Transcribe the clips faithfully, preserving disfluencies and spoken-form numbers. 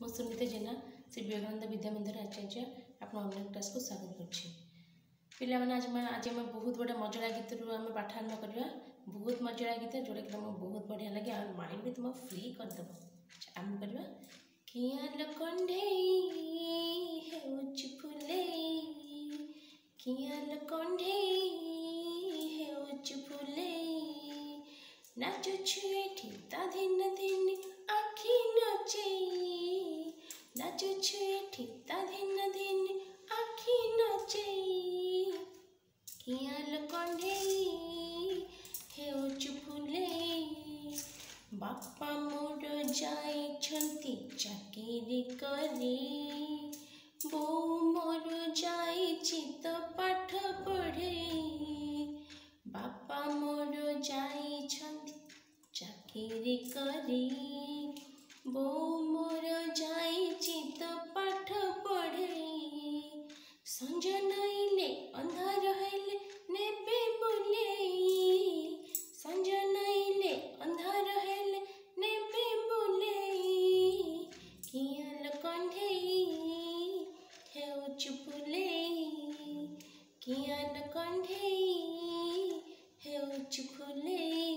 ମୁଁ ସୁନିତା ଜେନା, ଶ୍ରୀ ବିବେକାନନ୍ଦ ବିଦ୍ୟା ମନ୍ଦିର ଆଚାର୍ଯ୍ୟ, ଆପଣ ଅନଲାଇନ୍ କ୍ଲାସ୍କୁ ସ୍ୱାଗତ କରୁଛି। ପିଲାମାନେ, ଆଜି ଆଜି ଆମେ ବହୁତ ବଢ଼ିଆ ମଜଣା ଗୀତରୁ ଆମେ ପାଠ ଆରମ୍ଭ କରିବା। ବହୁତ ମଜଣା ଗୀତ, ଯେଉଁଟାକି ତୁମକୁ ବହୁତ ବଢ଼ିଆ ଲାଗେ ଆଉ ମାଇଣ୍ଡ ବି ତୁମ ଫ୍ରି କରିଦେବ। ଆରମ୍ଭ କରିବା। କିଆଲ କଣ୍ଢେଇ ହେଉଛି ଫୁଲେଇ, କିଆଲ କଣ୍ଢେଇ ହେଉଛି ଫୁଲେଇ, ନାଚୁଛୁ ଏଠି ତା ଧିନ ଧିନ ଆଖି ନଚେଇ, ନାଚୁଛୁ ଏଠି ତା ଧିନ ଧିନ ଆଖି ନଚେଇ, କିଆଲ କଣ୍ଢେଇ ହେଉଛୁ ଫୁଲେଇ। ବାପା ମୋର ଯାଇଛନ୍ତି ଚାକିରି କରି, ବୋଉ ମୋର ଯାଇଛି ତ ପାଠ ପଢ଼େଇ। ବାପା ମୋର ଯାଇଛନ୍ତି ଚାକିରି କରି, ବୋଉ ମୋର ଯାଇଛି ତ ପାଠ ପଢ଼େଇ। ସଞ୍ଜ ନଇଲେ ଅନ୍ଧାର ହେଲେ ନେବେ ବୁଲେଇ, ସଞ୍ଜ ନଇଲେ ଅନ୍ଧାର ହେଲେ ନେବେ ବୁଲେଇ, କିଆଲ କଣ୍ଢେଇ ହେଉଛୁ ଫୁଲେଇ, କିଆଲ କଣ୍ଢେଇ ହେଉଛୁ ଫୁଲେଇ।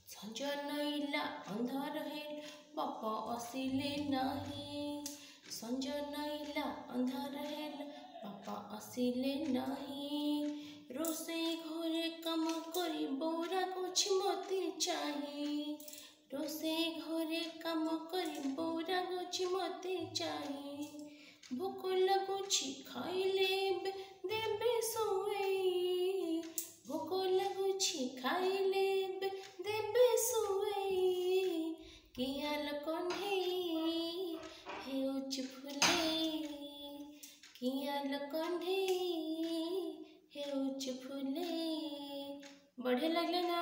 ସଞ୍ଜ ନଇଲା ଅନ୍ଧାର ହେଲା ବାପା ଆସିଲେ ନାହିଁ, ସଞ୍ଜ ନଇଲା ଅନ୍ଧାର ହେଲା ବାପା ଆସିଲେ ନାହିଁ। ରୋଷେଇ ଘରେ କାମ କରି ବୋଉ ରାଗୁଛି ମୋତେ ଚାହିଁ, ରୋଷେଇ ଘରେ କାମ କରି ବୋଉ ରାଗୁଛି ମୋତେ ଚାହିଁ। ଭୋକ ଲାଗୁଛି ଖାଇଲେ ଏବେ ଦେବେ ଶୁଏଇ, ଭୋକ ଲାଗୁଛି ଖାଇଲେ ଏବେ ଦେବେ ଶୁଏଇ, କିଆଲ କଣ୍ଢେଇ ହେଉଛି ଫୁଲେଇ, କିଆଲ କଣ୍ଢେଇ ହେଉଛି ଫୁଲେଇ। ବଢ଼ିଆ ଲାଗିଲା ନା?